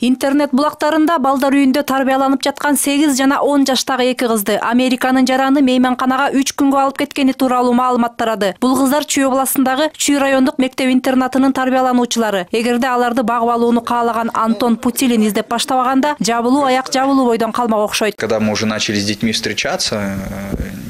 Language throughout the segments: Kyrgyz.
Интернет булактарында балдар үйүндө тарбияланып жаткан 8 жана 10 жаштагы эки кызды Американын жараны мейманканага 3 күнгө алып кеткени тууралуу маалымат тарады. Бул кыздар Чүй областындагы Чүй райондук мектеп-интернатынын тарбиялануучулары. Эгерде аларды багып алууну каалаган Антон Путилин издеп баштабаганда, жабылуу аяк жабылуу бойдон калмак окшойт. Когда мы уже начали с детьми встречаться,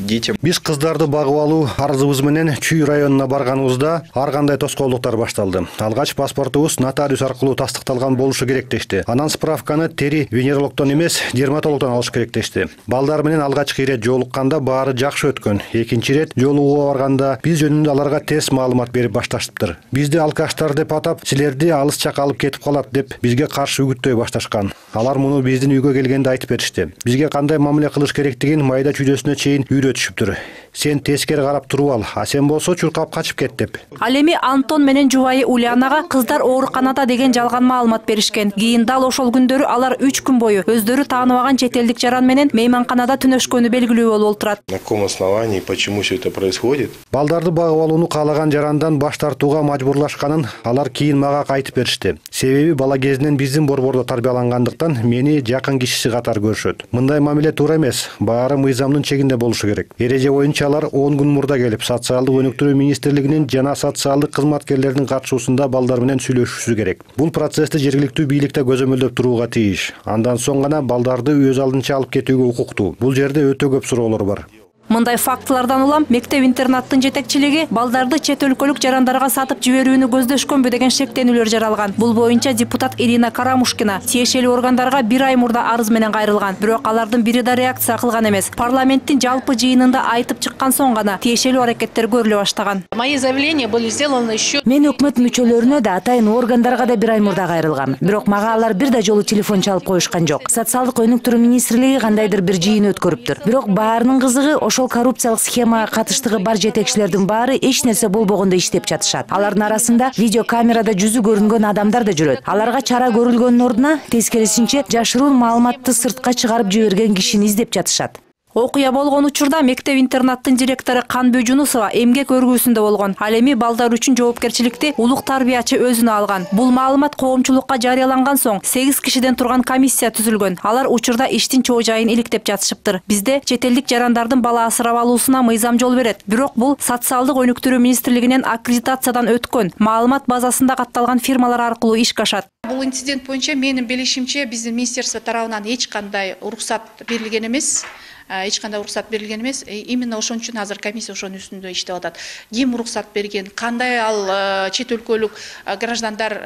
детям биз кыздарды багып алуу арызыбыз менен Чүй районуна барганыбызда ар кандай тоскоолдуктар башталды. Алгач паспортубуз нотариус аркылуу тастыкталган болушу керек дешти. Анан справканы тери венерологдон эмес, дерматологдон алыш керек дешти. Балдар менен алгачкы ирет жолукканда баары жакшы өткөн. Экинчи ирет жолугууга барганда биз жөнүндө аларга тест маалымат берип башташыптыр. Бизди алкаштар деп атап, силерди алыс жакка алып кетип калат деп бизге каршы үгүттөй башташкан. Алар муну биздин үйгө келгенде айтып беришти. Бизге кандай мамиле кылыш керектигин майда чүйдөсүнө чейин үйрөтүшүптүр. Сен тескери карап туруп ал, а сен болсо чуркап качып кет деп. Ал эми Антон менен жубайы Ульянага кыздар ооруканада деген жалган маалымат беришкен. Кийин дал ошол күндөрү алар 3 күн бою өздөрү тааныбаган чет элдик жаран менен мейманканада түнөшкөнү белгилүү болуп олтурат. На каком основании, почему все это происходит? Балдарды багып алууну каалаган жарандан баш тартууга мажбурлашканын алар кийин мага айтып беришти. Себеби бала кезинен биздин борбордо тарбиялангандыктан мени жакын кишиси катары көрүшөт. Мындай мамиле туура эмес, баары мыйзамдын чегинде болушу керек. Эреже боюнча алар 10 күн мурда келип, социалдык өнүктүрүү министрлигинин жана социалдык кызматкерлердин катышуусунда балдар менен сүйлөшүшү керек. Бул процессти жергиликтүү бийликте көзөмөлдөп турууга тийиш. Андан соң гана балдарды өз алдынча алып кетүүгө укуктуу. Бул жерде өтө көп суроолор бар. Мындай фактылардан улам мектеп-интернаттын жетекчилиги балдарды чет өлкөлүк жарандарга сатып жиберүүнү көздөшкөнбү деген шектенүүлөр жаралган. Бул боюнча депутат Ирина Карамушкина тиешелүү органдарга 1 ай мурда арыз менен кайрылган. Бирок алардын бири да реакция кылган эмес. Парламенттин жалпы жыйынында айтып чыккан соң гана тиешелүү аракеттер көрүлө баштаган. Мои заявления были сделаны еще. Мен өкмөт мүчөлөрүнө да атайын органдарга да 1 ай мурда кайрылгам. Бирок мага алар бир да жолу телефон чалып коюшкан жок. Социалдык өнүктүрүү министрлиги кандайдыр бир жыйын өткөрүптүр. Бирок баарынын кызыгы ошол коррупциялык схемага катыштыгы бар жетекчилердин баары эч нерсе болбогондой иштеп жатышат. Алардын арасында видеокамерада жүзү көрүнгөн адамдар да жүрөт. Аларга чара көрүлгөнүн ордуна тескерисинче жашыруун маалыматты сыртка чыгарып жиберген кишини издеп жатышат. Окуя болгон учурда мектеп-интернаттын директору Канбү Жунусова эмгек өргүүсүндө болгон. Ал эми балдар үчүн жоопкерчиликти улук тарбиячы өзүнө алган. Бул маалымат коомчулукка жарыяланган соң 8 кишиден турган комиссия түзүлгөн. Алар учурда иштин чоо жайын иликтеп жатышыптыр. Бизде чет элдик жарандардын бала асырап алуусуна мыйзам жол берет. Бирок бул социалдык өнүктүрүү министрлигинен аккредитациядан өткөн маалымат базасында катталган фирмалар аркылуу ишке ашат. Бул инцидент боюнча менин билишимче биздин министерство тарабынан эч кандай уруксат берилген эмес. Именно ошон үчүн азыр комиссия ошонун үстүндө иштеп атат. Ким уруксат берген, кандай ал чет өлкөлүк граждандар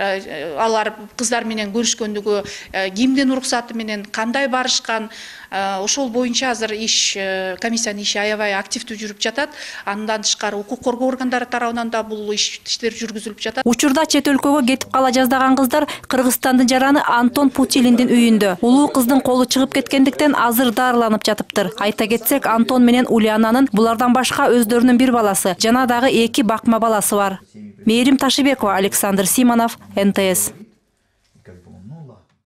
алар кыздар менен көрүшкөндүгү, кимдин уруксаты менен кандай барышкан, ошол боюнча азыр иш комиссиянын иши аябай активдүү жүрүп жатат. Андан тышкары укук коргоо органдары тарабынан да бул иштер жүргүзүлүп жатат. Учурда чет өлкөгө кетип кала жаздаган кыздар Кыргызстандын жараны Антон Путилиндин үйүндө. Улуу кыздын колу чыгып кеткендиктен азыр дарыланып жатыптыр. Айта кетсек, Антон менен Ульянанын булардан башка өздөрүнүн бир баласы, жана дагы 2 бакма баласы бар. Мээрим Ташибекова, Александр Симонов, НТС.